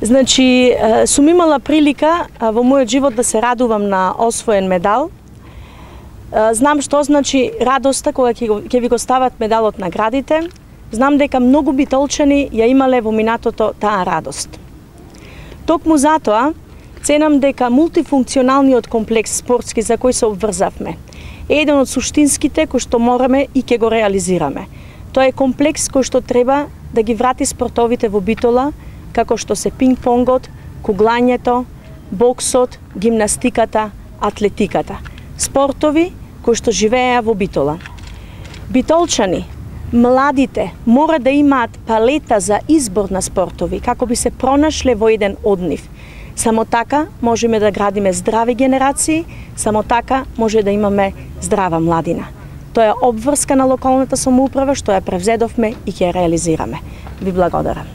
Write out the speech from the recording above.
Значи, сум имала прилика во мојот живот да се радувам на освоен медал. Знам што значи радоста кога ќе ви го стават медалот на градите. Знам дека многу битолчани ја имале во минатото таа радост. Токму затоа, ценам дека мултифункционалниот комплекс спортски за кој се обврзавме е еден од суштинските кои што мораме и ќе го реализираме. Тоа е комплекс кој што треба да ги врати спортовите во Битола, како што се пинг-понгот, куглањето, боксот, гимнастиката, атлетиката. Спортови кои што живееа во Битола. Битолчани, младите мора да имаат палета за избор на спортови, како би се пронашле во еден од нив. Само така можеме да градиме здрави генерации, само така може да имаме здрава младина. Тоа е обврска на локалната самоуправа што ја превзедовме и ќе ја реализираме. Ви благодарам.